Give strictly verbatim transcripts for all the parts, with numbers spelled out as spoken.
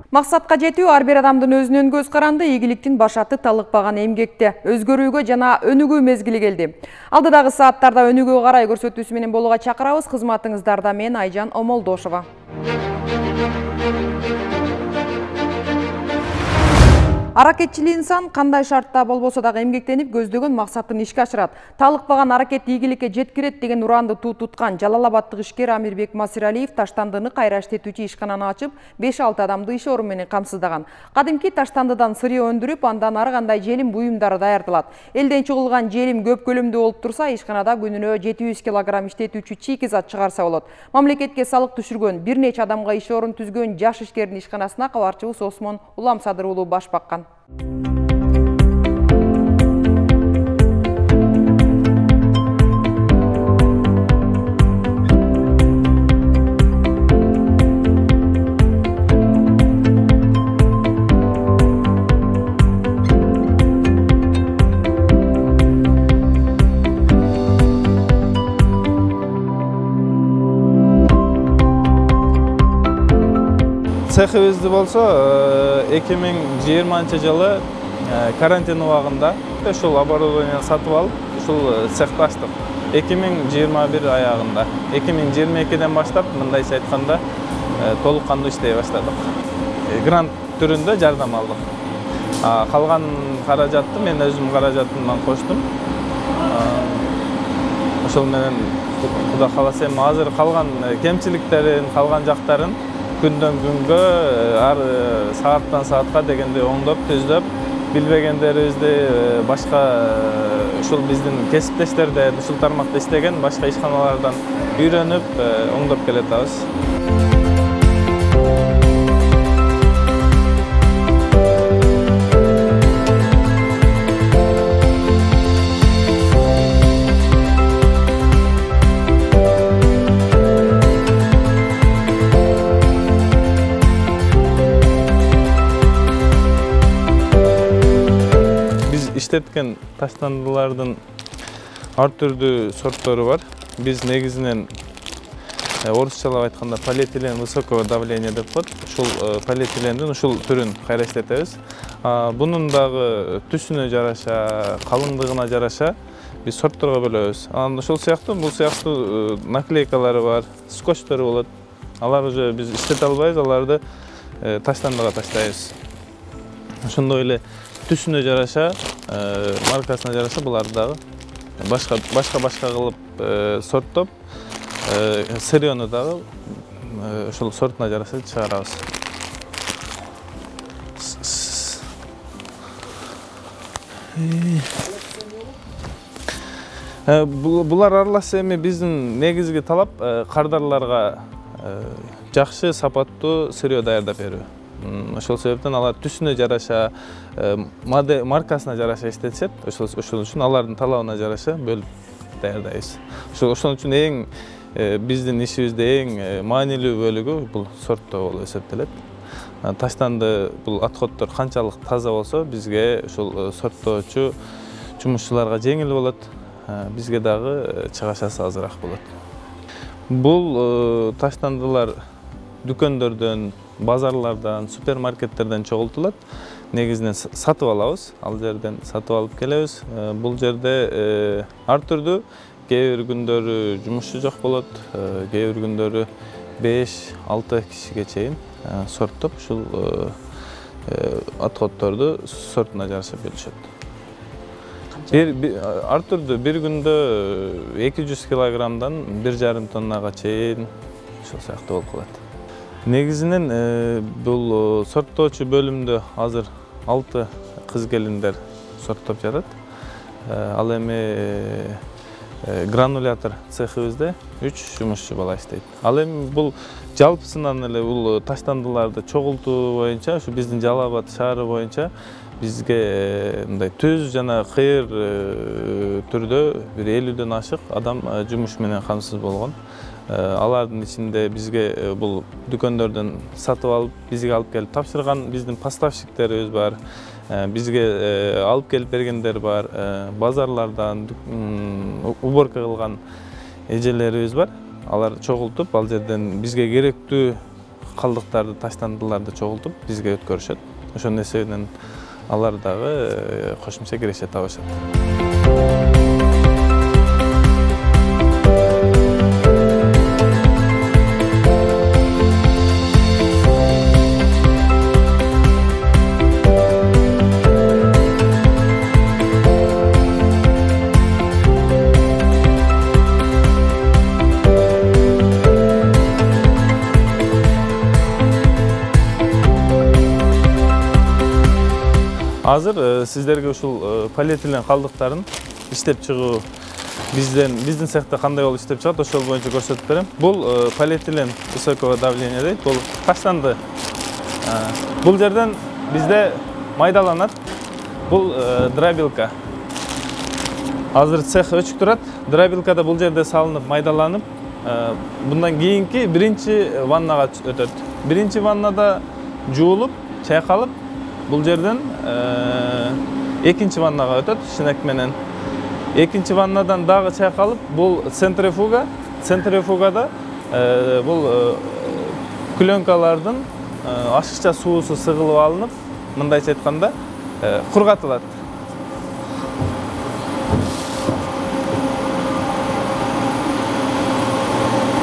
Максатка жетүү ар бир адамдын өзүнөн көз каранды, ийгиликтин башаты талыкпаган эмгекте. Өзгөрүүгө жана өнүгүү мезгили келди. Алдыдагы сааттарда өнүгүүгө карай көрсөтүүсү менен болууга чакырабыз. Кызматыңыздарда мен Айжан Омолдошова. Аракетчил инсан кандай шартта болбосо дагы эмгектенип, көздөгөн максатын ишке ашырат. Талыкпаган аракет ийгиликке жеткирет деген уранды туу туткан Жалал-Абадтык ишкер Амирбек Масиралиев Таштандыны кайра иштетүүчү ишкананы ачып, беш алты адамды иш орун менен камсыздаган. Кадимки Таштандыдан сырье өндүрүп, андан ары кандай желим буюмдары даярдалат. Элден чыгылган желим көп көлөмдүү болуп турса, ишканада күнүнө жети жүз килограмм иштетүүчү чийки зат чыгарса болот. Мамлекетке салык түшүргөн, бир нече адамга иш орун түзгөн жаш ишкердин ишканасына кабарчыбыз Осмон Уламсадыр уулу баш баккан. Цехибизди болсо эки миң жыйырманчы жылы карантин убагында ушул оборудование сатып алып, ушул цехти ачтык. эки миң жыйырма бир аягында, эки миң жыйырма экиден баштап мындайча айтканда толук кандуу иштей баштадык. Грант түрүндө жардам алдык. Калган каражатты мен өзүм каражатымдан коштум. Ошол менен Кудай кааласа эми азыр калган кемчиликтерин, калган жактарын күндөн күнгө, ар сааттан саатка дегенде оңдоп, түздөп, билбегендерибизди башка ушул биздин кесиптештерден, ушул тармакта иштеген башка ишканалардан үйрөнүп, оңдоп келатабыз. Иштеткен таштандылардын ар түрдүү сорттору бар. Биз негизинен орусчалап айтканда полиэтилен высокого давления деп коет. Ушул полиэтилендин ушул түрүн кайра иштетебиз. Бунун дагы түсүнө жараша, калыңдыгына жараша биз сортторго бөлөбүз. Анан ушул сыяктуу, бул сыяктуу наклейкалары бар, скотчтору болот. Алар уже биз иштете албайбыз, аларды таштандыга таштайбыз. Ошондой эле түсүнө жараша, маркасына жараша буларды дагы башка башка башка кылып сорттоп, сырьёну дагы ошол сортуна жараша чыгарабыз. Булар аралашса эми биздин негизги талап кардарларга жакшы сапаттуу сырьё даярдап берүү. Ошол себептен алар түсүнө жараша, маркасына жараша иштетишет. Ошол үчүн алардын талабына жараша бөлүп даярдайбыз. Ошол үчүн эң биздин ишибизде эң маанилүү бөлүгү бул сорттоо болуп эсептелет. Таштанды бул отходдор канчалык таза болсо, бизге ушул сорттоочу жумушчуларга жеңил болот, бизге дагы чыгашасы азыраак болот. Бул таштандылар дүкөндөрдөн, базарлардан, супермаркеттерден чогултулат. Негизинен сатып алабыз, ал жерден сатып алып келебиз. Бул жерде ар түрдүү, кээ бир күндөрү жумушчу жок болот, кээ бир күндөрү беш алты кишиге чейин сорттоп, ушул отходдорду сортуна жараша бөлүшөт. Ар түрдүү бир күндө эки жүз килограммдан бир жарым тоннага чейин ушул сыяктуу болуп калат. Негизинен бул сорттоочу бөлүмдө азыр алты кыз келиндер сорттоп жатат. Ал эми гранулятор цехибизде үч жумушчу бала иштейт. Ал эми бул жалпысынан эле бул таштандыларды чогултуу боюнча, ушу биздин Жалал-Абад шаары боюнча бизге мындай түз жана кыйыр түрдө бир элүүдөн ашык адам жумуш менен камсыз болгон. Алардын ичинде бизге бул дүкөндөрдөн сатып алып, бизге алып келип тапшырган биздин поставщиктерибиз бар. Бизге алып келип бергендер бар. Базарлардан уборка кылган эжелерибиз бар. Алар чогултуп, ал жерден бизге керектүү калдыктарды, таштандыларды чогултуп бизге өткөрүшөт. Ошонун эсебинен алар дагы кошумча киреше табышат. Азыр сиздерге ушул полиэтилен калдыктарын иштеп чыгуу бизден биздин цехте кандай болуп иштеп чыгат, ошол боюнча көрсөтүп берем. Бул полиэтилен высокого давления дейт. Бул таштанды. Бул жерден бизде майдаланат. Бул дробилка. Азыр цех өчүк турат. Дробилкада бул жерде салынып, майдаланып, bundan кийинки биринчи ваннага өтөт. Биринчи ваннада жуулуп, чайкалып, бул жерден экинчи ваннага өтөт шинек менен. Экинчи ваннадан дагы чайкалып, бул центрифуга. Центрифугада бул пленкалардын ашыкча суусу сыгылып алынып, мындайча айтканда, кургатылат.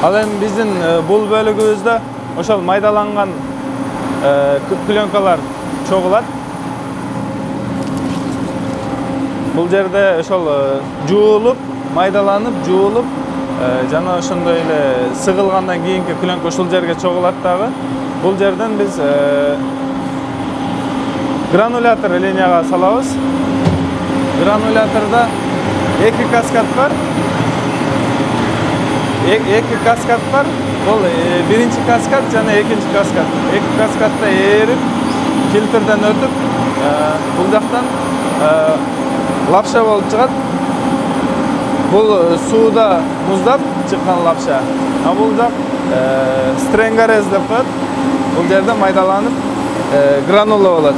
Ал эми биздин бул бөлүгүбүздө ошол майдаланган пленкалар чогулат. Бул жерде ошол жуулуп, майдаланып, жуулуп, жана ошондой эле сыгылгандан кийинки пленка ушул жерге чогулат дагы. Бул жерден биз гранулятор линияга салабыз. Грануляторда эки каскад бар. Эки каскад бар. Бул биринчи каскад жана экинчи каскад. Эки каскадда ээрип, фильтрден өтүп, бул жактан лапша болуп чыгат. Бул сууда муздап чыккан лапша. А бул жак стренгарез деп коет. Бул жерде майдаланып гранула болот.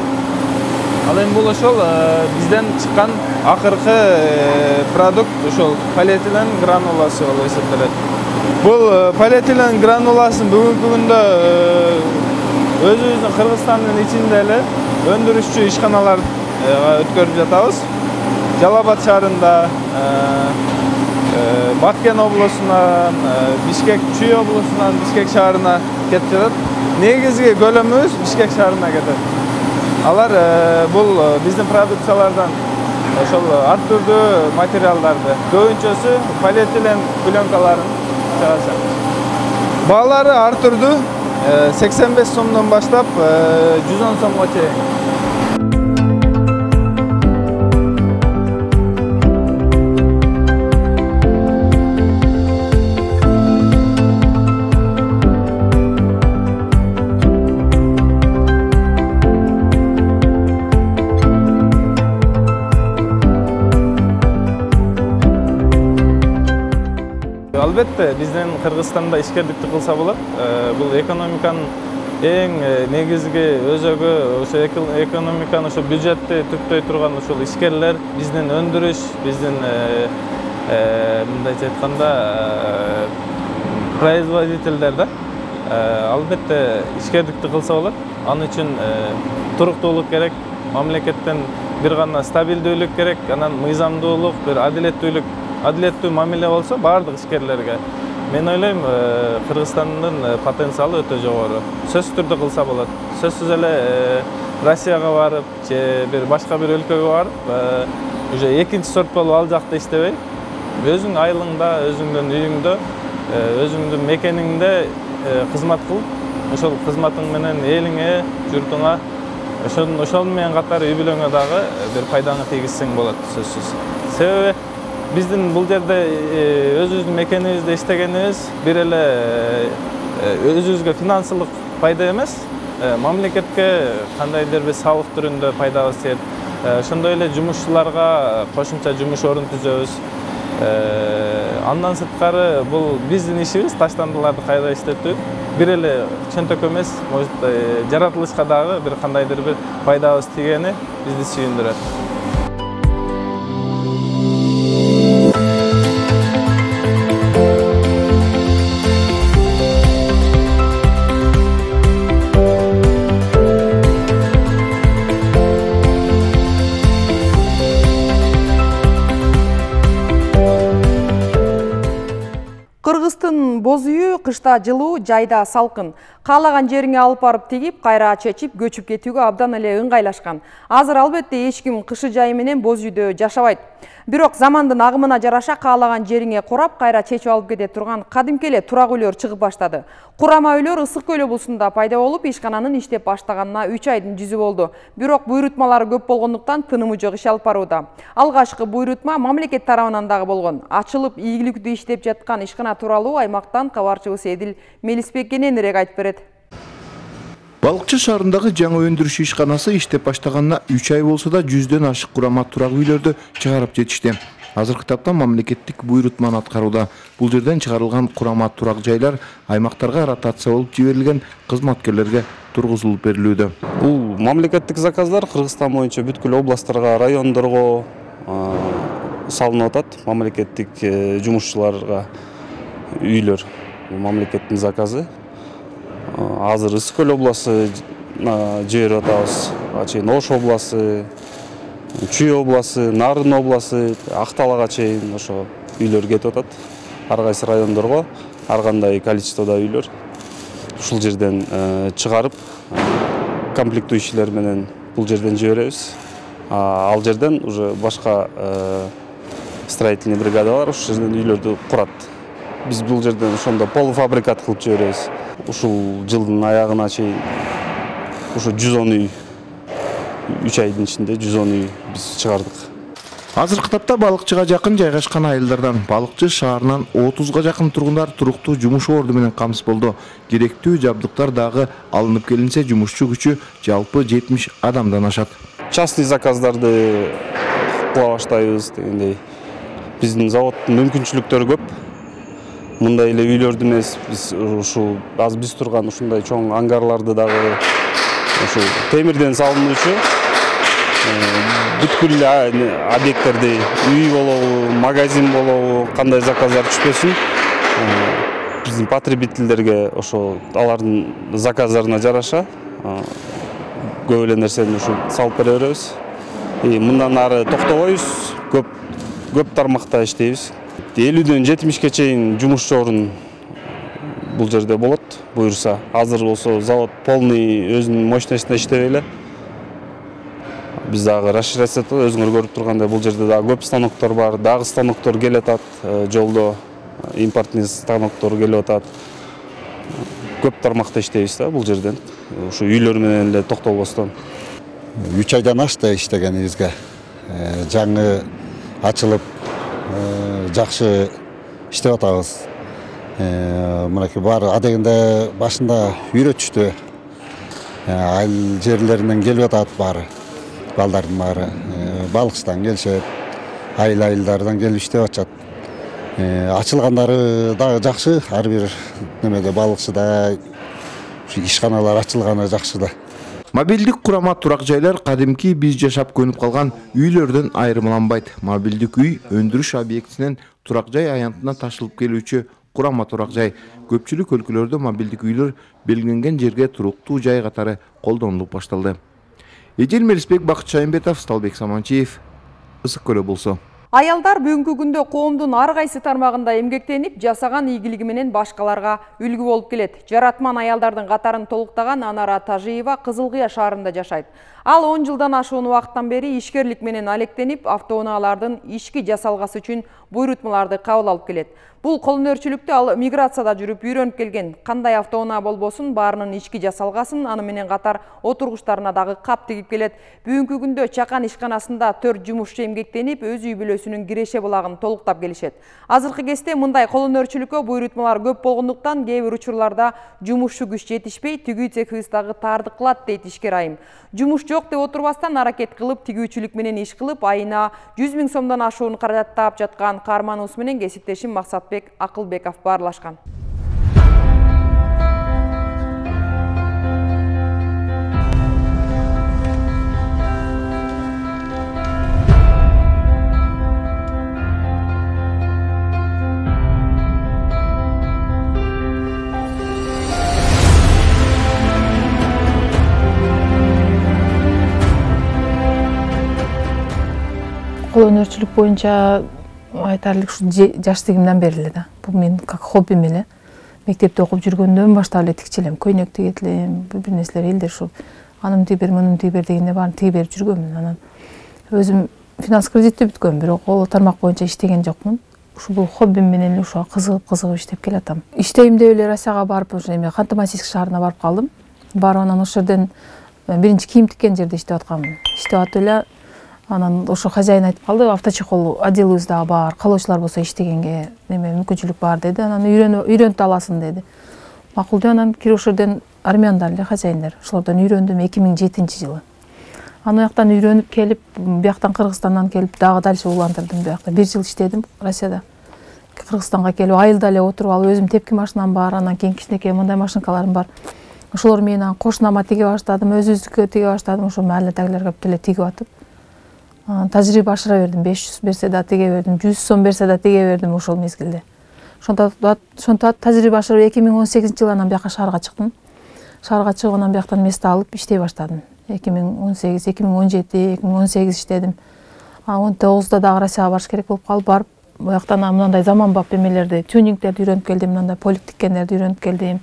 Ал эми бул ошол бизден чыккан акыркы продукт ошол полиэтилен грануласы болуп эсептелет. Бул полиэтилен грануласын бүгүнкү күндө өзүбүздүн Кыргызстандын ичинде эле өндүрүшчү ишканаларга өткөрүп жатабыз. Жалал-Абад шаарында, Баткен облусунан, Бишкек Чүй облусунан Бишкек шаарына кетип жатат. Негизги көлөмүбүз Бишкек шаарына кетет. Алар бул биздин продукциялардан ошол ар түрдүү материалдарды, көбүнчөсү полиэтилен пленкаларын чыгашат. Баалары ар түрдүү, сексен беш сомдон баштап жүз он сомго чейин. Албетте, биздин Кыргызстанда ишкерликти кылса болот. Бул экономиканын эң негизги өзөгү, ошо экономиканы, ошо бюджетти түптөй турган ошол ишкерлер, биздин өндүрүш, биздин мындайча айтканда производительдер да. Албетте, ишкерликти кылса болот. Аны үчүн туруктуулук керек, мамлекеттен бир гана стабилдүүлүк керек, анан мыйзамдуулук, бир адилеттүүлүк адилеттүү мамиле болсо баардык ишкерлерге. Мен ойлойм, Кыргызстандын потенциалы өтө жогору. Сөзсүз түрдө кылса болот. Сөзсүз эле Россияга барып, же бир башка бир өлкөгө барып, уже экинчи сорт болуп ал жакта иштебей, өзүң айылыңда, өзүңдүн үйүңдө, өзүңдүн мекениңде кызмат кылып, ошол кызматың менен элиңе, журтуңа, ошол менен катар үй бүлөңө дагы бир пайдаңы тийгизсең болот, сөзсүз. Себеби биздин бул жерде өзүбүздүн мекенибизде иштегенибиз бир эле өзүбүзгө финансылык пайда эмес, мамлекетке кандайдыр бир салык түрүндө пайдабыз тиет. Ошондой эле жумушчуларга кошумча жумуш орун түзөбүз. Андан сырткары бул биздин ишибиз, таштандыларды кайра иштетүү. Бир эле чөнтөк эмес, может, жаратылышка дагы бир кандайдыр бир пайдабыз тийгени бизди сүйүндүрөт. кышта жылуу, жайда салкын. Каалаган жериңе алып барып тигип, кайра чечип, көчүп кетүүгө абдан эле ыңгайлашкан. Азыр албетте эч ким кышы жайы менен боз үйдө жашабайт. Бирок замандын агымына жараша каалаган жериңе курап, кайра чечип алып кете турган кадимки эле турак үйлөр чыгып баштады. Курама үйлөр Ысык көл облусунда пайда болуп, ишкананын иштеп баштаганына үч айдын жүзү болду. Бирок буйрутмалары көп болгондуктан тынымы жок иш алып барууда. Алгачкы буйрутма мамлекет тарабынан дагы болгон. Ачылып, ийгиликтүү иштеп жаткан ишкана тууралуу аймактан кабарчыбыз Эдил Мелисбек кененирээк айтып берет. Балыкчы шаарындагы жаңы өндүрүш ишканасы иштеп баштаганына үч ай болсо да жүздөн ашык курама турак үйлөрдү чыгарып жетишти. Азыркы тапта мамлекеттик буйрутманы аткарууда. Бул жерден чыгарылган курама турак жайлар аймактарга ротация болуп жиберилген кызматкерлерге тургузулуп берилүүдө. Бул мамлекеттик заказдар Кыргызстан боюнча бүткүл областтарга, райондорго салынып атат. Мамлекеттик жумушчуларга үйлөр. Бул мамлекеттин заказы. Азыр Ысык көл обласы жиберип атабыз. Чейин Ош обласы, Чүй обласы, Нарын обласы, Акталага чейин ошо үйлөр кетип атат. Ар кайсы райондорго ар кандай количестводо үйлөр. Ушул жерден чыгарып, комплектующийлер менен бул жерден жиберебиз. Ал жерден уже башка строительный бригадалар ушул жерден үйлөрдү курат. Биз бул жерден ошондо полуфабрикат кылып жиберебиз. Ушул жылдын аягына чейин ошо жүз он үй, үч айдын ичинде жүз он үй биз чыгардык. Азыркы тапта балыкчыга жакын жайгашкан айылдардан балыкчы шаарынан отузга жакын тургундар туруктуу жумуш орду менен камсыз болду. Керектүү жабдыктар дагы алынып келинсе, жумушчу күчү жалпы жетимиш адамдан ашат. Частный заказдарды кыла баштайбыз дегендей. Биздин заводдун мүмкүнчүлүктөрү көп. Мындай эле үйлөрдү эмес, биз ушул азыр биз турган ушундай чоң ангарларды дагы ушул темирден салынуучу бүткүл объекттерди үй болобу, магазин болобу, кандай заказдар түшпөсүн, биздин потребительдерге ошо алардын заказдарына жараша көп эле нерсени ушул салып бере беребиз. Мындан ары токтобойбуз, көп көп тармакта иштейбиз. элүүдөн жетимишке чейин жумушчу орун бул жерде болот, буюрса. Азыр болсо завод полный өзүнүн мощностуна иштебей эле. Биз дагы расширяться этип, өзүңөр көрүп тургандай бул жерде дагы көп станоктор бар, дагы станоктор келип атат, жолдо импортный станоктор келип атат. Көп тармакта иштейбиз да бул жерден. Ушу үйлөр менен эле токтобостон. үч айдан ашты иштегенибизге. Жаңы ачылып жакшы иштеп атабыз. Мынакей баары адегенде башында үйрөтүштү. Айыл жерлеринен келип атат баары. Балдардын баары балыкчыдан келишет, айыл айылдардан келип иштеп атышат. Ачылгандары дагы жакшы, ар бир немеде балыкчыда ишканалар ачылганы жакшы да. Мобилдик курама турак жайлар кадимки биз жашап көнүп калган үйлөрдөн айырмаланбайт. Мобилдик үй өндүрүш объектинен турак жай аянтына ташылып келүүчү курама турак жай. Көпчүлүк өлкөлөрдө мобилдик үйлөр белгиленген жерге туруктуу жай катары колдонулуп башталды. Эдил Мелисбек, Бакыт Шайымбетов, Сталбек Саманчиев, Ысык көл облусу. Аялдар бүгүнкү күндө коомдун ар кайсы тармагында эмгектенип, жасаган ийгилиги менен башкаларга үлгү болуп келет. Жаратман аялдардын катарын толуктаган Анара Тажиева Кызыл Кыя шаарында жашайт. Ал он жылдан ашуун убакыттан бери ишкерлик менен алектенип, автоунаалардын ишки жасалгасы үчүн буйрутмаларды кабыл алып келет. Бул колөнөрчүлүктү ал миграцияда жүрүп үйрөнүп келген. Кандай автоунаа болбосун, баарынын ишки жасалгасын, аны менен катар отургучтарына дагы кап тигип келет. Бүгүнкү күндө чакан ишканасында төрт жумушчу эмгектенип, өз үй бүлөсүнүн киреше булагын толуктап келишет. Азыркы кезде мындай колөнөрчүлүккө буйрутмалар көп болгондуктан кээ бир учурларда жумушчу күч жетишпей, тигүү цехыбыз дагы таардык кылат дейт ишкер айым. Жумуш жок деп отурбастан аракет кылып, тигүүчүлүк менен иш кылып, айына жүз миң сомдон ашуун каражат таап жаткан каарманыбыз менен кесиптешим Максатбек Акылбеков баарлашкан. Колөнөрчүлүк боюнча айтарлык ушу жаштыгымдан бери эле да. Бул мен как хоббим эле. мектепте окуп жүргөндөн баштап эле тикчи элем, көйнөк тигет элем, бир нерселер элдер ушу анын тигибер, мунун тигибер дегенде баарын тиге берип жүргөмүн. Анан өзүм финанс кредитти бүткөм, бирок ол тармак боюнча иштеген жокмун. Ушул хоббим менен эле ушуга кызыгып кызыгып иштеп келатам. Иштейм деп эле Россияга барып, ошо эме Ханты-Мансийск шаарына барып калдым. Барып анан ошол жерден биринчи кийим тиккен жерде иштеп атканмын. Иштеп атып эле анан ошо хозяин айтып калды, авточехол отделыбызда бар, каалоочулар болсо иштегенге неме мүмкүнчүлүк бар деди. Анан үйрөнүп үйрөнүп аласың деди. Макул деп анан кирип ошол жерден армяндар эле хозяиндер. Ошолордон үйрөндүм эки миң жетинчи жылы. Аны жактан үйрөнүп келип, бияктан Кыргызстандан келип дагы дальше улантырдым биякта. бир жыл иштедим Россияда. Кыргызстанга келип айылда эле отуруп алып, өзүм тепки машинам бар, анан кийин кичинекей мындай машинкаларым бар. Ошолор менен кошунама тиге баштадым, өзүбүздүккө тиге баштадым, ошо махалледагилерге бүт тигип атып. Тажрыйба ашыра бердим, беш жүз берсе да тиге бердим, жүз сом берсе да тиге бердим ошол мезгилде. Ошондо ошондо тажрыйба ашырып эки миң он сегизинчи жылы анан бияка шаарга чыктым. Шаарга чыгып анан бияктан место алып иштей баштадым. эки миң он сегиз, эки миң он жети, эки миң он сегиз иштедим. он тогузда дагы Россияга барыш керек болуп калып, барып, буяктан мындай заманбап эмелерди, тюнингтерди үйрөнүп келдим, мындай полик тиккендерди үйрөнүп келдим.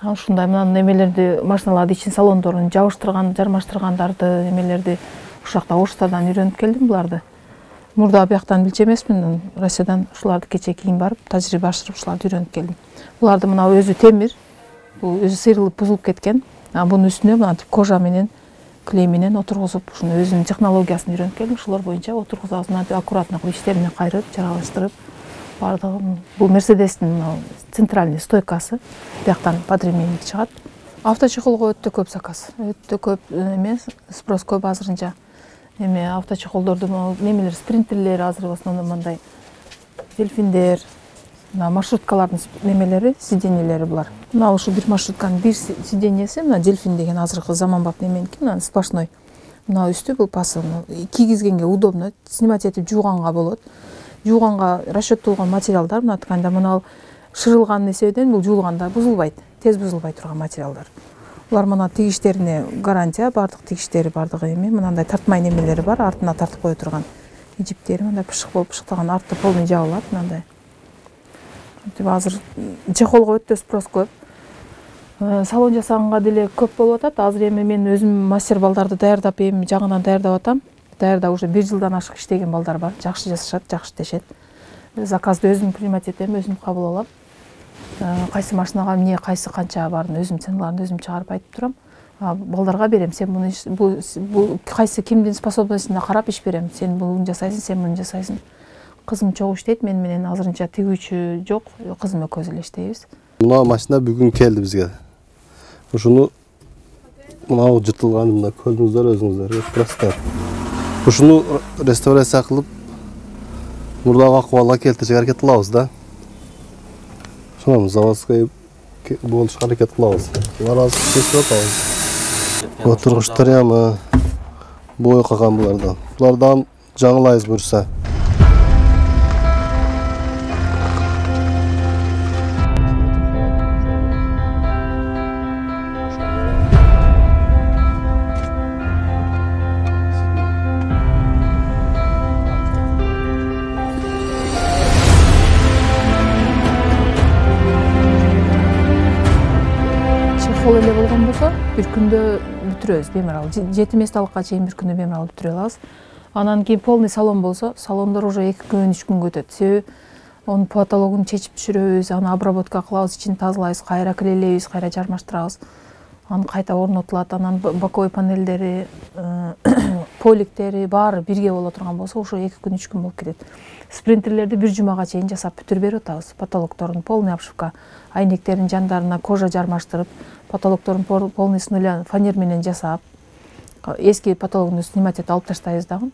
Ушундай мындай эмелерди, машиналарды ичин салондорун жабыштырган, жармаштыргандарды, эмелерди ушул жакта Оштадан үйрөнүп келдим буларды. Мурда бияктан билчү эмесмин, Россиядан ушуларды кече кийин барып, тажрыйба ашырып ушуларды үйрөнүп келдим. Буларды мына өзү темир, бул өзү сыйрылып бузулуп кеткен. Бунун үстүнө мынтип кожа менен, клей менен отургузуп, ушуну өзүнүн технологиясын үйрөнүп келдим. Ошолор боюнча отургузабыз, мынтип аккуратно кылып иштерине кайрып, жаргалаштырып, бардыгын. Бул Мерседестин центральный стойкасы, бияктан подремейник чыгат. Авточехолго өтө көп заказ, өтө көп эме, спрос көп азырынча. Эме авточехолдорду немелер, спринтерлер азыр в основном мындай дельфиндер, маршруткалардын немелери, сиденьелери булар. Мына ушул бир маршрутканын бир сиденьеси, мына дельфин деген азыркы заманбап неменики, мына сплошной. Мына үстү бул пасы, кийгизгенге удобно, снимать этип жууганга болот. Жууганга расчеттолгон материалдар, мына тканда мына шырылган несебеден бул жуулганда бузулбайт, тез бузулбай турган материалдар. Булар мына тигиштерине гарантия, бардык тигиштери бардыгы эми, мындай тартмай немелери бар, артына тартып кое турган. Ижиптери мындай пышык болуп пышыктаган, арты полный жабылат мындай. Азыр чехолго өтө спрос көп. Салон жасаганга деле көп болуп атат. Азыр эми мен өзүм мастер балдарды даярдап, эми жаңыдан даярдап атам. Даярдап уже бир жылдан ашык иштеген балдар бар. Жакшы жасашат, жакшы тешет. Заказды өзүм принимать этем, өзүм кабыл алам. Кайсы машинага эмне, кайсы канча барын өзүм ценаларын өзүм чыгарып айтып турам. Балдарга берем, сен муну бул кайсы кимдин способностуна карап иш берем. Сен буну жасайсың, сен муну жасайсың. Кызым чогуу иштейт, мен менен азырынча тигүүчү жок, кызым экөөбүз эле иштейбиз. Мына машина бүгүн келди бизге. Ушуну мына жытылган, мына көрдүңүздөр өзүңүздөр, просто. Ушуну реставрация кылып, мурдагы акыбалга келтиришке аракет кылабыз да. Ошону заводской болушка аракет кылабыз. Булар азыр чечип атабыз. Отургучтар ямы бой калган булардан. Булардан жаңылайбыз буюрса. Чехол эле болгон болсо, бир күндө бүтүрөбүз бемарал. жети месталыкка чейин бир күндө бемарал бүтүрө алабыз. Анан кийин полный салон болсо, салондор уже эки күн, үч күнгө өтөт. Себеби онун потологун чечип түшүрөбүз, аны обработка кылабыз, ичин тазалайбыз, кайра клейлейбиз, кайра жармаштырабыз. Аны кайта орнотулат, анан боковой панелдери, поликтери баары бирге боло турган болсо, ошо эки күн, үч күн болуп кетет. Спринтерлерди бир жумага чейин жасап бүтүрүп берип атабыз. Потолокторун полный обшивка, айнектердин жандарына кожа жармаштырып, потолокторун полный с нуля фанер менен жасап, эски потологун снимать этип алып таштайбыз дагы.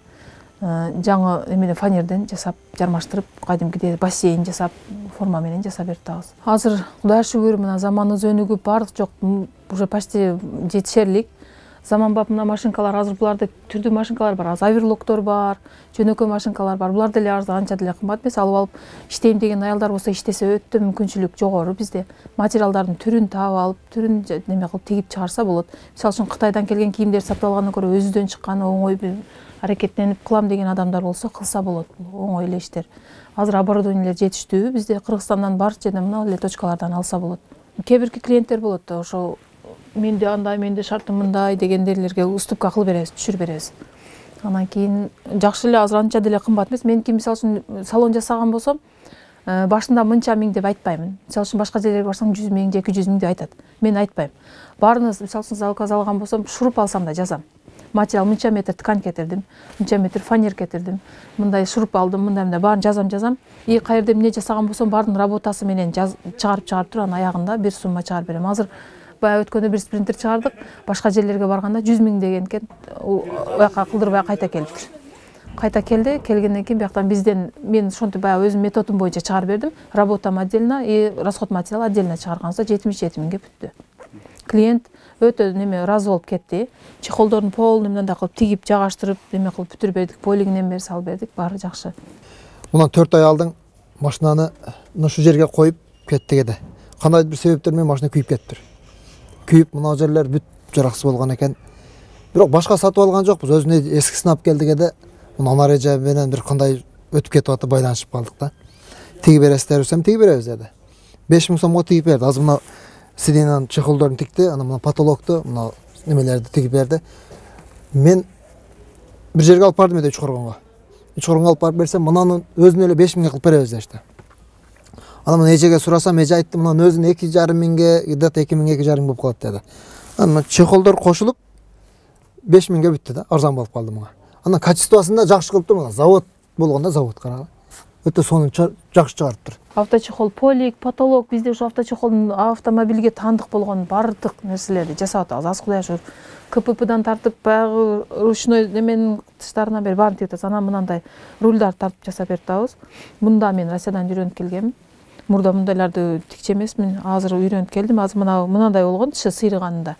Жаңы эмне фанерден жасап, жармаштырып, кадимкидей бассейн жасап, форма менен жасап берип атабыз. Азыр Кудайга шүгүр, мына заманыбыз өнүгүп, бардык жок, уже почти жетишерлик заманбап мына машинкалар азыр буларда түрдүү машинкалар бар, азыр оверлоктор бар, жөнөкөй машинкалар бар. Булар деле арзан, анча деле кымбат эмес. Алып алып иштейм деген аялдар болсо иштесе өтө мүмкүнчүлүк жогору бизде. Материалдардын түрүн таап алып, түрүн неме кылып тигип чыгарса болот. Мисалы үчүн Кытайдан келген кийимдер сатып алгандан көрө өзүдөн чыккан оңой бир аракеттенип кылам деген адамдар болсо кылса болот. Оңой эле иштер. Азыр оборудованиелер жетиштүү. Бизде Кыргызстандан бар жерден мына эле точкалардан алса болот. Кээ бирки клиенттер болот да, ошо менде андай, менде шартым мындай дегендерлерге уступка кылып беребиз, түшүрүп беребиз. Анан кийин жакшы эле азыр анча деле кымбат эмес. Меники мисалы үчүн салон жасаган болсом, башында мынча миң деп айтпаймын. Мисалы үчүн башка жерлерге барсаң жүз миң, эки жүз миң деп айтат. Мен айтпайм. Баарына мисалы үчүн заказ алган болсом, шуруп алсам да жазам. Материал мынча метр ткань кетирдим, мынча метр фанер кетирдим, мындай шуруп алдым, мындай мындай баарын жазам жазам. И каерде эмне жасаган болсом, баардын работасы менен чыгарып чыгарып туруп, анан аягында бир сумма чыгарып берем. Азыр баягы өткөндө бир спринтер чыгардык, башка жерлерге барганда жүз миң деген экен, уяка кылдырбай кайта келиптир. Кайта келди, келгенден кийин бияктан бизден мен ошентип баягы өзүм методум боюнча чыгарып бердим. Работам отдельно и расход материал отдельно чыгарганса жетимиш жети миңге бүттү. Клиент өтө неме ыраазы болуп кетти. Чехолдорун полный мындай кылып тигип, жагаштырып, неме кылып бүтүрүп бердик, полигинен бери салып бердик, баары жакшы. Мына төрт ай алдың машинаны ушул жерге коюп кеттик эди. Кандайдыр бир себептер менен машина күйүп кетиптир. Күйүп мына жерлер бүт жараксыз болгон экен. Бирок башка сатып алган жокпуз, өзүнө эскисин алып келдик эди. Мына анареже менен бир кандай өтүп кетип атып байланышып калдык да. Тиги бересиздер десем, тиги беребиз деди. беш миң сомго тигип берди. Азыр мына сидинан чехолдорун тикти, анан мына потолокту, мына немелерди тигип берди. Мен бир жерге алып бардым эди Үчкоргонго. Үчкоргонго алып барып берсем, мынаны өзүнө эле беш миңге кылып беребиз дешти. Анан мына эжеге сурасам, эже айтты, мынаны өзүнө эки жарым миңге, где-то эки миң, эки жарым болуп калат деди. Анан чехолдор кошулуп беш миңге бүттү да, арзан болуп калды мага. Анан качествосунда жакшы кылып тур, завод болгондо завод карагы. Өтө сонун жакшы чыгарыптыр. Авточехол, полик, потолок, бизде ушу авточехолдун автомобилге таандык болгон бардык нерселерди жасап атабыз. Аз Кудай шүгүр. КППдан тартып, баягы ручной неменин тыштарынан бери баарын тигип атабыз. Анан мынандай рульдар тартып жасап берип атабыз. Мында мен Россиядан үйрөнүп келгем. Мурда мындайларды тикче эмесмин. Азыр үйрөнүп келдим. Азыр мына мындай болгон, тышы сыйрыганында.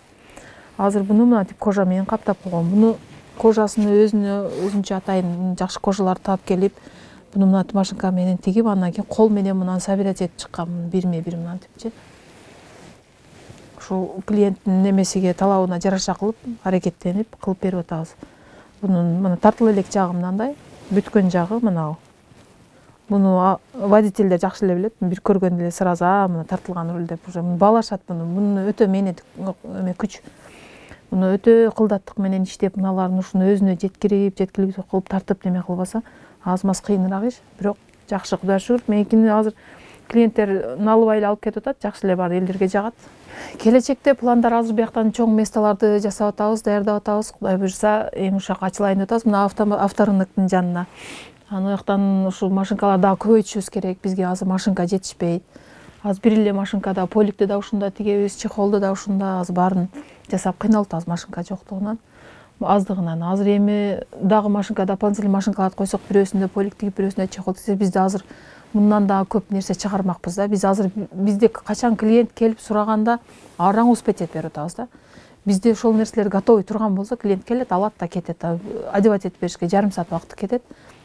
Азыр буну мына тип кожа менен каптап койгон. Буну кожасын өзүнө өзүнчө атайын жакшы кожаларды таап келип, буну мына машинка менен тигип, андан кийин кол менен мынаны собирать этип чыккан, бирме бир мынантипчи. Ушул клиенттин немесиге, талабына жараша кылып, аракеттенип кылып берип атабыз. Бунун мына тартыл элек жагы мындай, бүткөн жагы мына. Буну водительдер жакшы эле билет. Бир көргөндө эле сразу мына тартылган руль деп уже баалашат буну. Буну өтө мээнет күч. Буну өтө кылдаттык менен иштеп, мыналарын ушуну өзүнө жеткирип, жеткиликтүү кылып тартып неме кылбаса, аз-маз кыйыныраак иш, бирок жакшы, Кудай шүгүр. Меникини азыр клиенттер налыбай эле алып кетип атат, жакшы эле бар элдерге жагат. Келечекте пландар азыр бияктан чоң месталарды жасап атабыз, даярдап атабыз. Кудай буйрса, эң ушак ачылайын деп атабыз. Мына авторынктын жанына. Аны жактан ушул машинкаларды дагы көбөйтүшүбүз керек. Бизге азыр машинка жетишпейт. Азыр бир эле машинкада поликти да ушунда тигебиз, чехолду да ушунда, азыр баарын жасап кыйналып атабыз машинка жоктугунан, аздыгынан. Азыр эми дагы машинка, дополнительный машинкаларды койсок, бирөөсүндө полик тигип, бирөөсүндө чехол тигсе, бизде азыр мындан дагы көп нерсе чыгармакпыз да. Биз азыр бизде качан клиент келип сураганда араң успеть этип берип атабыз да. Бизде ошол нерселер готовый турган болсо, клиент келет, алат да кетет. Одевать этип беришке жарым саат убакыты кетет.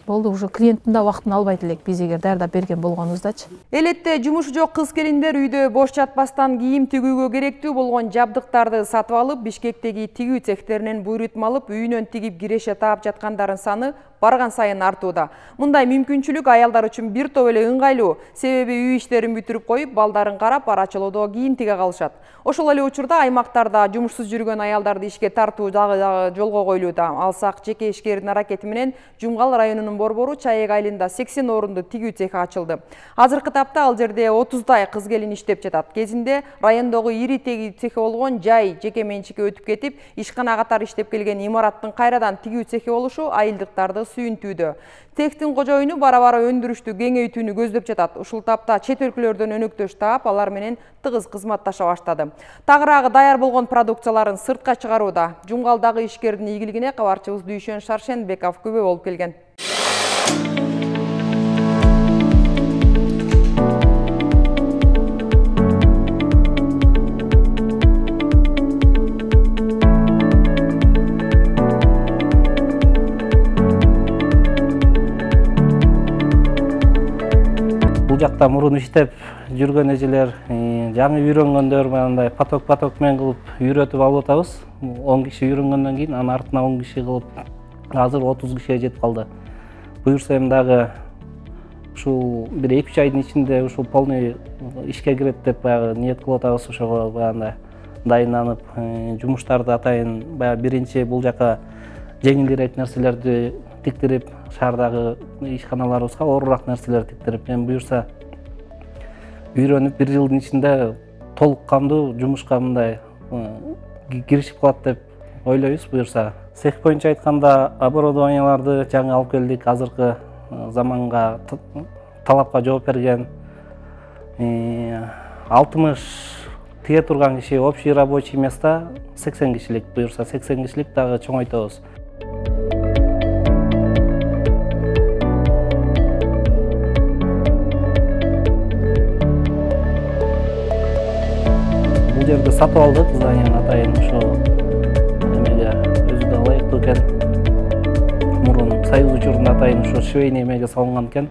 Болду, уже клиенттин да убактын албайт элек, биз эгер даярдап берген болгонубуздачы. Элетте жумушу жок кыз-келиндер үйдө бош жатпастан кийим тигүүгө керектүү болгон жабдыктарды сатып алып, Бишкектеги тигүү цехтеринен буйрутма алып, үйүнөн тигип киреше таап жаткандардын саны барган сайын артууда. Мындай мүмкүнчүлүк аялдар үчүн бир топ эле ыңгайлуу, себеби үй иштерин бүтүрүп коюп, балдарын карап, арачылоодо кийим тиге калышат. Ошол эле учурда аймактарда жумушсуз жүргөн аялдарды ишке тартуу дагы жолго коюлууда. Алсак, жеке ишкердин аракети менен Жумгал районунун борбору Чаек айылында сексен орунду тигүү цехи ачылды. Азыркы тапта ал жерде отуздай кыз-келин иштеп жатат. Кезинде райондогу ири тигүү цехи болгон жай жеке менчикке өтүп кетип, ишкана катары иштеп келген имараттын кайрадан тигүү цехи болушу айылдыктарды сүйүнтүүдө. Цехтин кожоюну бара-бара өндүрүштү кеңейтүүнү көздөп жатат. Ушул тапта чет өлкөлөрдөн өнөктөш таап, алар менен тыгыз кызматташа баштады. Тагыраагы даяр болгон продукцияларын сыртка чыгарууда. Жумгалдагы ишкердин ийгилигине кабарчыбыз Дүйшөн Шаршенбеков күбө болуп келген. жакта мурун иштеп жүргөн эжелер, жаңы үйрөнгөндөр мындай поток-поток менен кылып үйрөтүп алып атабыз. он киши үйрөнгөндөн кийин анын артына он киши кылып азыр отуз кишиге жетип калды. Буюрса эми дагы ушул бир эки үч айдын ичинде ушул полный ишке кирет деп баягы ниет кылып атабыз. Ошого баягындай дайынданып, жумуштарды атайын баягы биринчи бул жака жеңилирээк нерселерди тиктирип, шаардагы ишканаларыбызга оорураак нерселерди тиктирип, эми буюрса үйрөнүп бир жылдын ичинде толук кандуу жумушка мындай киришип калат деп ойлойбуз. Буюрса цех боюнча айтканда оборудованияларды жаңы алып келдик, азыркы заманга талапка жооп берген. алтымыш тие турган киши, общий рабочий места сексен кишилик. Буюрса сексен кишилик дагы чоңойтобуз. Бул жерде сатып алдык зданияны атайын, ошо эмеге өзү да ылайыктуу экен. Мурун Союз учурунда атайын ошо швейный эмеге салынган экен.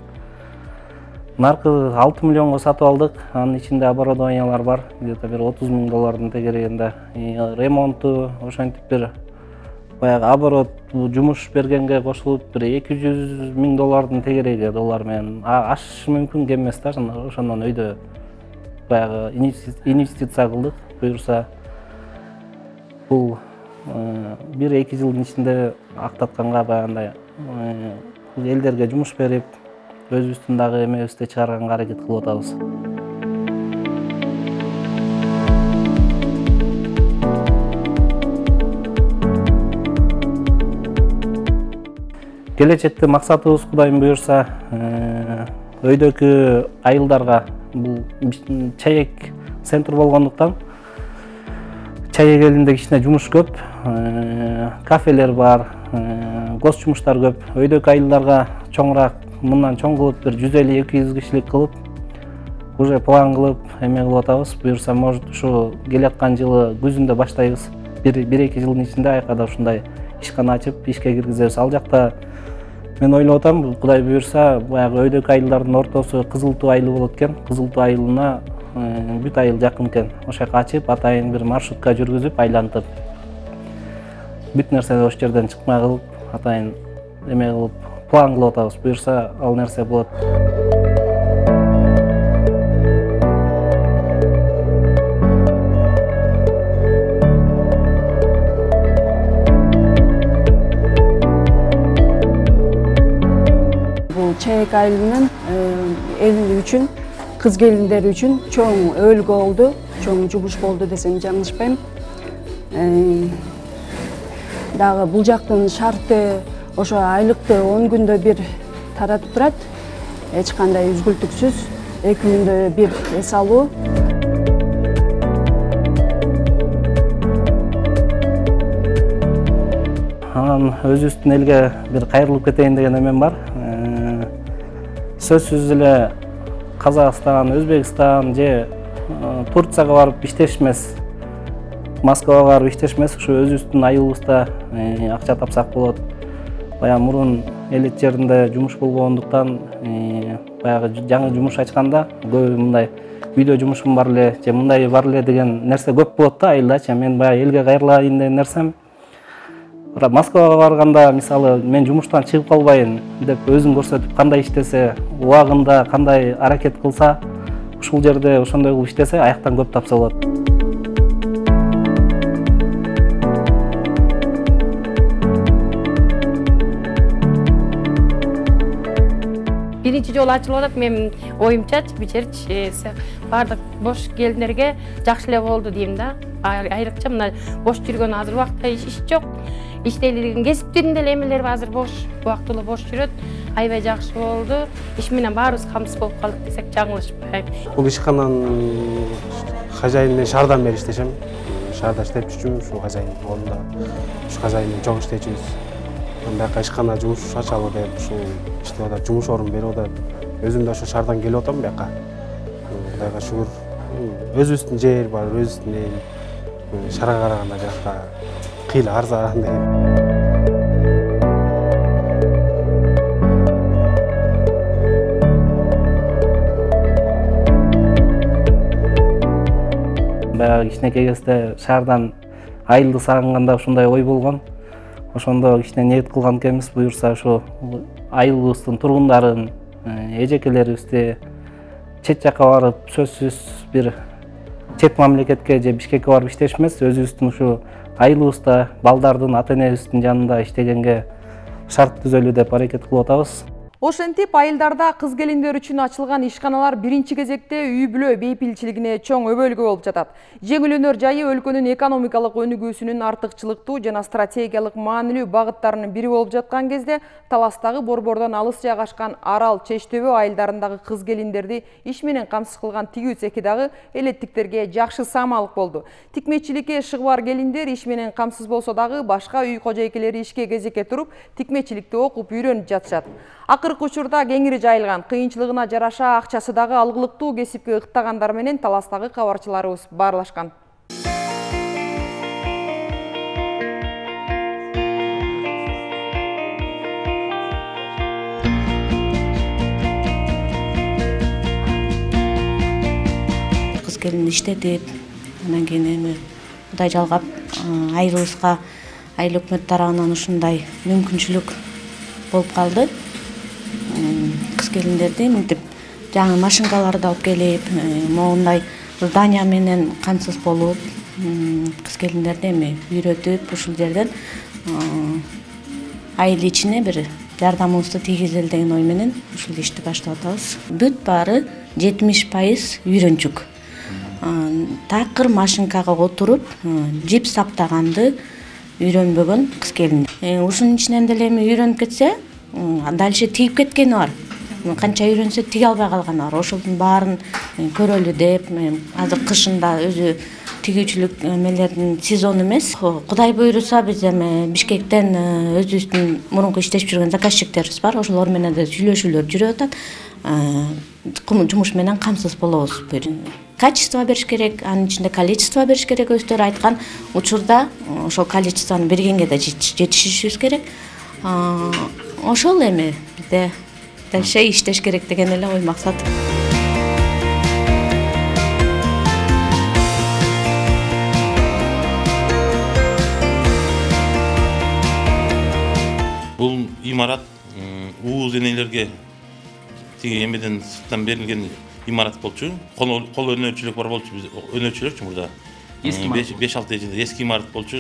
Наркы алты миллионго сатып алдык. Анын ичинде оборудованиялар бар, где-то бир отуз миң доллардын тегерегинде. Ремонту ошентип бир баягы оборот жумуш бергенге кошулуп бир эки жүз миң доллардын тегереги доллар менен. Ашышы мүмкүн, кем эмес да. Ошондон өйдө баягы инвестиция кылдык. Буюрса бул бир эки жылдын ичинде актатканга баягындай элдерге жумуш берип, өзүбүздүн дагы эмебизди чыгарганга аракет кылып атабыз. Келечекте максатыбыз Кудайым буюрса, өйдөкү айылдарга бул чаек центр болгондуктан чаек элинде кичине жумуш көп, кафелер бар, гос жумуштар көп. Өйдөкү айылдарга чоңураак, мындан чоң кылып бир жүз элүү эки жүз кишилик кылып, уже план кылып эме кылып атабыз. Буюрса, может, ушу келаткан жылы күзүндө баштайбыз. бир эки жылдын ичинде айкада ушундай ишкана ачып, ишке киргизебиз. Ал жакта мен ойлоп атам, Кудай буюрса, баягы өйдөкү айылдардын ортосу Кызыл Туу айылы болот экен. Кызыл Туу айылына бүт айыл жакын экен. Ошол жака ачып, атайын бир маршрутка жүргүзүп, айлантып, бүт нерсени ошол жерден чыкмай кылып, атайын эме кылып, план кылып атабыз. Буюрса, ал нерсе болот. Бул чаек айылынын эл үчүн, кыз келиндер үчүн чоң өлкө болду, чоң жумуш болду десем жаңылышпайм. Дагы бул жактын шарты ошо айлыкты он күндө бир таратып турат. Эч кандай үзгүлтүксүз, эки күндө бир эс алуу. Анан өзүбүздүн элге бир кайрылып кетейин деген эмем бар. Сөзсүз эле Казакстан, Өзбекстан же Турцияга барып иштеш эмес, Москвага барып иштеш эмес, ушу өзүбүздүн айылыбызда акча тапсак болот. Баягы мурун элет жеринде жумуш болбогондуктан, баягы жаңы жумуш ачканда көбү мындай үйдө жумушум бар эле, же мындай бар эле деген нерсе көп болот да айылдачы. Мен баягы элге кайрылайын деген нерсем, Москвага барганда, мисалы, мен жумуштан чыгып калбайын деп өзүн көрсөтүп, кандай иштесе, убагында кандай аракет кылса, ушул жерде ошондой кылып иштесе, аяктан көп тапса болот. Биринчи жолу ачылып атат, мен оюмчачы, бичерчи баардык бош келиндерге жакшы эле болду дейм да. Айрыкча мына бош жүргөн азыр убакта иш жок. Иштелген кесиптин деле эмелери азыр бош, убактылуу бош жүрөт. Аябай жакшы болду. Иш менен баарыбыз камсыз болуп калдык десек жаңылышпайм. Бул ишкананын хозяйыны мен шаардан бери иштешем. Шаарда иштеп жүрчүмүн, ушул хозяйын колунда. Ушу хозяйын менен чогуу иштечүбүз. Бияка ишкана жумуш ачалы деп, ушул иштеп атат, жумуш орун берип атат. Өзүм да ошо шаардан келип атам бияка. Кудайга шүгүр. Өзүбүздүн жер бар, өзүбүздүн эл. Шаарга караганда жакта кыйла арзан дейм. баягы кичинекей кезде шаардан айылды сагынганда ушундай ой болгон. Ошондо кичине ниет кылган экенбиз, буюрса ошо айылыбыздын тургундарын, эжекелерибизди чет жакка барып, сөзсүз бир чет мамлекетке же Бишкекке барып иштеш эмес, өзүбүздүн ушу айылыбызда балдардын, ата энебиздин жанында иштегенге шарт түзөлүү деп аракет кылып атабыз. Ошентип, айылдарда кыз келиндер үчүн ачылган ишканалар биринчи кезекте үй бүлө бейпилчилигине чоң өбөлгө болуп жатат. Жеңил өнөр жайы өлкөнүн экономикалык өнүгүүсүнүн артыкчылыктуу жана стратегиялык маанилүү багыттарынын бири болуп жаткан кезде, Таластагы борбордон алыс жайгашкан Арал, Чечтөбө айылдарындагы кыз келиндерди иш менен камсыз кылган тигүү цехи дагы элеттиктерге жакшы самалык болду. Тикмечиликке шыгбар келиндер иш менен камсыз болсо дагы башка үй кожойкелери ишке кезекке туруп, тикмечиликти окуп үйрөнүп жатышат. Акыркы учурда кеңири жайылган, кыйынчылыгына жараша акчасы дагы алгылыктуу кесипке ыктагандар менен Таластагы кабарчыларыбыз баарлашкан. Кыз келин иштетип, анан кийин эми Кудай жалгап, айылыбызга айыл өкмөт тарабынан ушундай мүмкүнчүлүк болуп калды. Кыз келиндерди мынтип жаңы машинкаларды алып келип, моундай здания менен камсыз болуп, кыз келиндерди эми үйрөтүп, ушул жерден айыл ичине бир жардамыбызды тийгизели деген ой менен ушул ишти баштап атабыз. Бүт баары жетимиш пайыз үйрөнчүк. Такыр машинкага отуруп, жип саптаганды үйрөнбөгөн кыз келин. Ушунун ичинен деле эми үйрөнүп кетсе, дальше тигип кеткени бар. Канча үйрөнсө тиге албай калганы бар. Ошолдун баарын көрөлү деп, азыр кышында өзү тигүүчүлүк эмелердин сезону эмес. Кудай буйруса биз эми Бишкектен өзүбүздүн мурунку иштешип жүргөн заказчиктерибиз бар. Ошолор менен да сүйлөшүүлөр жүрүп атат. Жумуш менен камсыз болобуз. Качество бериш керек, анын ичинде количество бериш керек. Өздөрү айткан учурда ошол количествону бергенге да жетишишибиз керек. Ошол эми бизде дальше иштеш керек деген эле ой максат. Бул имарат ууз энелерге тиги эмеден сырттан берилген имарат болчу. Кол өнөрчүлүк бар болчу, биз өнөрчүлөрчү мурда. беш алты жыл эски имарат болчу.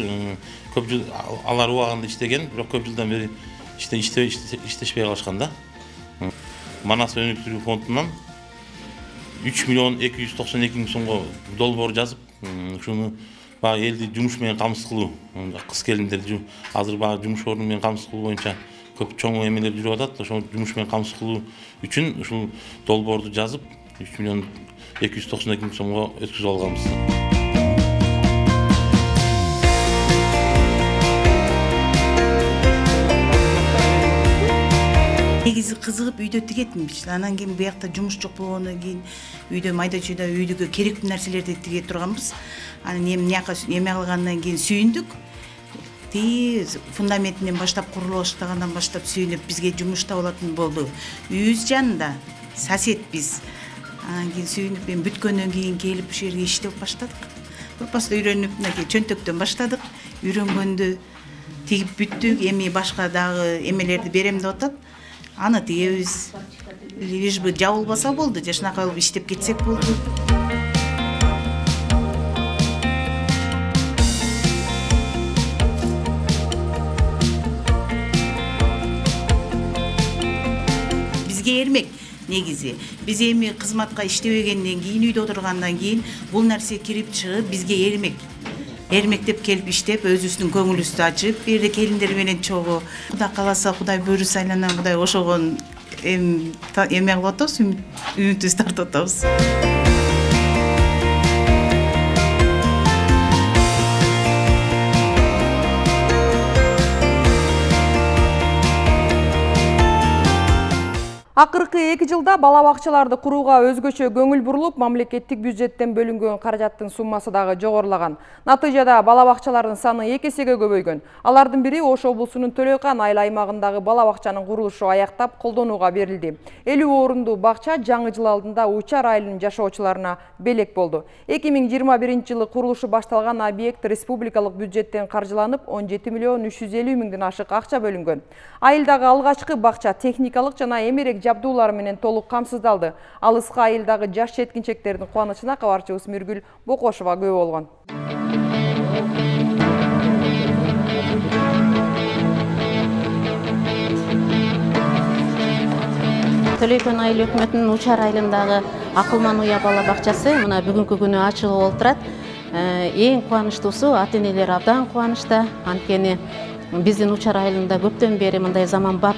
Көп жыл алар убагында иштеген, бирок көп жылдан бери иштешпей калышкан да. Манас өнүктүрүү фондунан үч миллион эки жүз токсон эки миң сомго долбоор жазып, ушуну баягы элди жумуш менен камсыз кылуу, кыз келиндерди азыр баягы жумуш орну менен камсыз кылуу боюнча көп чоң эмелер жүрүп атат. Ошол жумуш менен камсыз кылуу үчүн ушул долбоорду жазып, үч миллион эки жүз токсон эки миң сомго өткүзүп алганбыз. Негизи кызыгып үйдө тигетмиш. Анан кийин буякта жумуш жок болгондон кийин үйдө майда чүйдө үйдүгө керектүү нерселерди тиге турганбыз. Анан эми мияка эме кылгандан кийин сүйүндүк. Ти фундаментинен баштап курулуп баштагандан баштап сүйүнүп бизге жумуш табылатын болду. Үйүбүз жанында сосед биз. Анан кийин сүйүнүп эми бүткөндөн кийин келип ушул жерге иштеп баштадык. Бұрпасында үйрөнүп, мынакей чөнтөктөн баштадык. Үйрөнгөндү тигип бүттүк, эми башка дагы эмелерди берем деп атат. Аны тигебиз. Лишь бы жабылбаса болду, жашынакай кылып иштеп кетсек болду. Бизге эрмек негизи. Биз эми кызматка иштебегенден кийин, үйдө отургандан кийин бул нерсе кирип чыгып бизге эрмек. Эрмектеп келип иштеп, өзүбүздүн көңүлүбүздү ачып, бир жерде келиндер менен чогуу. Кудай кааласа, Кудай буйруса айланан Кудай ошогон эме кылып атабыз, үмүтүбүздү тартып атабыз. Акыркы Акыркы эки жылда бала бакчаларды курууга өзгөчө көңүл бурулуп, мамлекеттик бюджеттен бөлүнгөн каражаттын суммасы дагы жогорулаган. Натыйжада бала бакчалардын саны эки эсеге көбөйгөн. Алардын бири Ош облусунун Төлөйкан айыл аймагындагы бала бакчанын курулушу аяктап колдонууга берилди. элүү орундуу бакча жаңы жыл алдында Учар айылынын жашоочуларына белек болду. эки миң жыйырма биринчи жылы курулушу башталган объект республикалык бюджеттен каржыланып, он жети миллион үч жүз элүү миңден ашык акча бөлүнгөн. Айылдагы алгачкы бакча техникалык жана эмерек жабдуулар менен толук камсыздалды. Алыска айылдагы жаш жеткинчектердин кубанычына кабарчыбыз Миргүл Бокошова күбө болгон. Төлөйкөн айыл өкмөтүнүн Учар айылындагы Акылман уя бала бакчасы мына бүгүнкү күнү ачылып олтурат. Эң кубанычтуусу ата-энелер абдан кубанычта. Анткени биздин Учар айылында көптөн бери мындай заманбап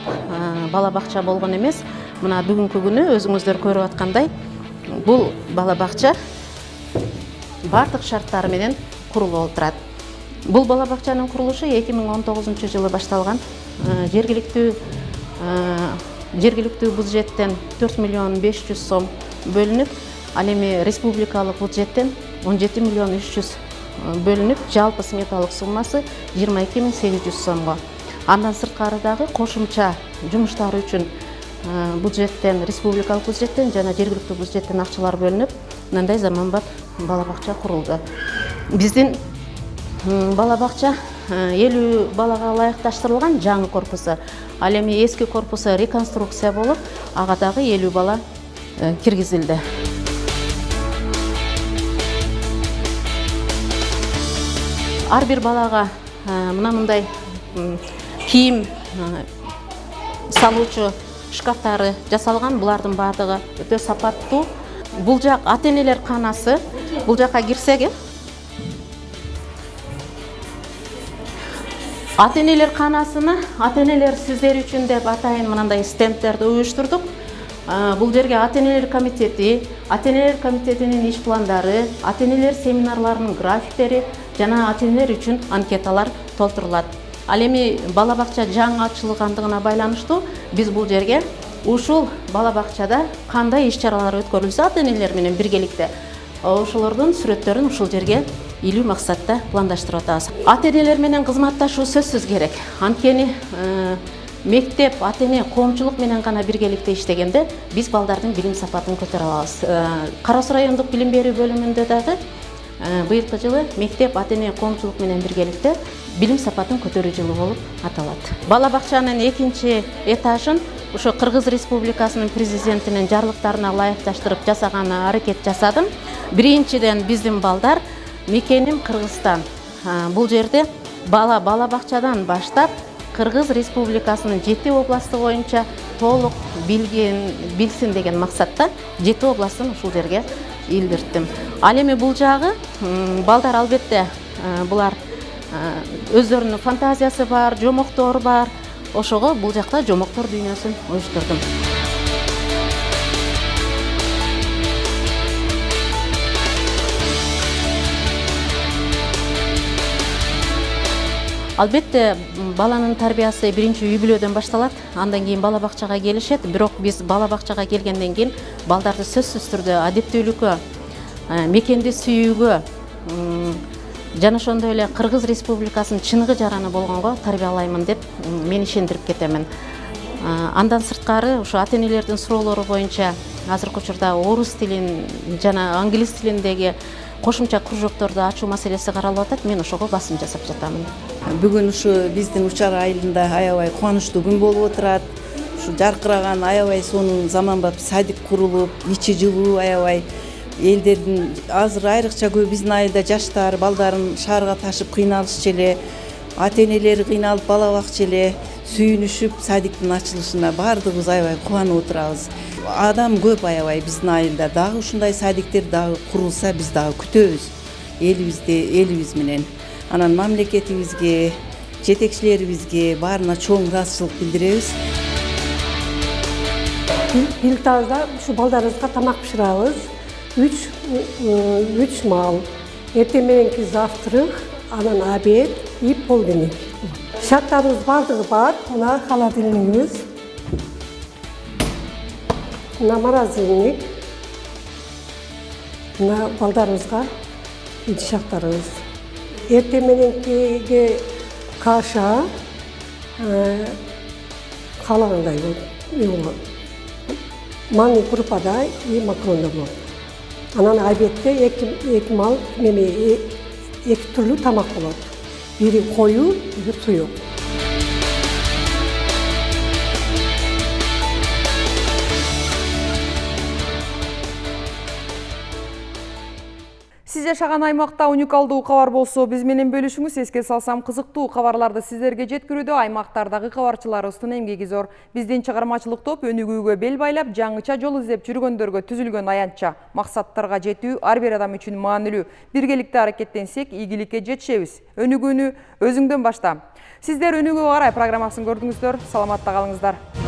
бала бакча болгон эмес. Мына бүгүнкү күнү өзүңүздөр көрүп аткандай бул бала бакча бардык шарттары менен курулуп олтурат. Бул бала бакчанын курулушу эки миң он тогузунчу жылы башталган. Жергиликтүү жергиликтүү бюджеттен төрт миллион беш жүз сом бөлүнүп, ал эми республикалык бюджеттен он жети миллион үч жүз бөлүнүп, жалпы сметалык суммасы жыйырма эки миң сегиз жүз сомго. Андан сырткары дагы кошумча жумуштар үчүн бюджеттен, республикалык бюджеттен жана жергиликтүү бюджеттен акчалар бөлүнүп, мындай заманбап бала бакча курулду. Биздин бала бакча элүү балага ылайыкташтырылган жаңы корпусу. Ал эми эски корпусу реконструкция болуп, ага дагы элүү бала киргизилди. Ар бир балага мына мындай кийим салуучу шкафтары жасалган. Булардын бардыгы өтө сапаттуу. Бул жак ата-энелер канасы. Бул жакка кирсек, ата-энелер канасыны ата-энелер сиздер үчүн деп атайын мындай стендтерди уюштурдук. Бул жерге ата-энелер комитети, ата-энелер комитетинин иш пландары, ата-энелер семинарларынын графиктери жана ата-энелер үчүн анкеталар толтурулат. Ал эми бала бакча жаңы ачылгандыгына байланыштуу биз бул жерге ушул бала бакчада кандай иш-чаралар өткөрүлсө ата-энелер менен биргеликте ошолордун сүрөттөрүн ушул жерге илүү максатта пландаштырып атабыз. Ата-энелер менен кызматташуу сөзсүз керек. Анткени мектеп, ата-эне, коомчулук менен гана биргеликте иштегенде биз балдардын билим сапатын көтөрө алабыз. Кара Суу райондук билим берүү бөлүмүндө дагы быйылкы жылы мектеп, ата-эне, коомчулук менен биргеликте билим сапатын көтөрүү жылы болуп аталат. Бала бакчанын экинчи этажын ошо Кыргыз Республикасынын президентинин жарлыктарына ылайыкташтырып жасаганына аракет жасадым. Биринчиден биздин балдар мекеним Кыргызстан. Бул жерде бала бала бакчадан баштап Кыргыз Республикасынын жети областы боюнча толук билген, билсин деген максатта жети областын ушул жерге илдирттим. Ал эми бул жагы балдар албетте булар өздөрүнүн фантазиясы бар, жомоктор бар. Ошого бул жакта жомоктор дүйнөсүн уюштурдум. Албетте баланын тарбиясы биринчи үй бүлөдөн башталат, андан кийин бала бакчага келишет. Бирок биз бала бакчага келгенден кийин балдарды сөзсүз түрдө адептүүлүккө, мекенди сүйүүгө жана ошондой эле Кыргыз Республикасынын чыныгы жараны болгонго тарбиялаймын деп мен ишендирип кетемин. Андан сырткары ушу ата-энелердин суроолору боюнча азыркы учурда орус тилин жана англис тилиндеги кошумча кружокторду ачуу маселеси каралып атат. Мен ошого басым жасап жатамын. Бүгүн ушу биздин Учар айылында аябай кубанычтуу күн болуп отурат. Ушу жаркыраган аябай сонун заманбап садик курулуп, ичи жылуу аябай элдердин азыр айрыкча көп биздин айылда жаштар балдарын шаарга ташып кыйналышчу эле, ата-энелери кыйналып бала бакчы эле, сүйүнүшүп садиктин ачылышына баардыгыбыз аябай кубанып отурабыз. Адам көп аябай биздин айылда. Дагы ушундай садиктер дагы курулса биз дагы күтөбүз элибизде, элибиз менен. Анан мамлекетибизге, жетекчилерибизге баарына чоң ыраазычылык билдиребиз. Бил тазда ушу балдарыбызга тамак бышырабыз. Үч үч маал. Эртең мененки завтрак, анан обед и полдник. Шарттарыбыз бардыгы бар. Мына холодильнигибиз. мына морозильник, мына балдарыбызга идиш-актарыбыз. Эртең мененкиге каша каалагандай болот. Манный крупада и макаронда болот. Анан обедте эки мал неме эки түрлүү тамак болот. Бири коюу, бири суюк. Сиз жашаган аймакта уникалдуу кабар болсо, биз менен бөлүшүңүз. Эске салсам, кызыктуу кабарларды сиздерге жеткирүүдө аймактардагы кабарчыларыбыздын эмгеги зор. Биздин чыгармачылык топ өнүгүүгө бел байлап, жаңыча жол издеп жүргөндөргө түзүлгөн аянтча. Максаттарга жетүү ар бир адам үчүн маанилүү. Биргеликте аракеттенсек, ийгиликке жетишебиз. Өнүгүүнү өзүңдөн башта. Сиздер өнүгүүгө карай программасын көрдүңүздөр. Саламатта калыңыздар.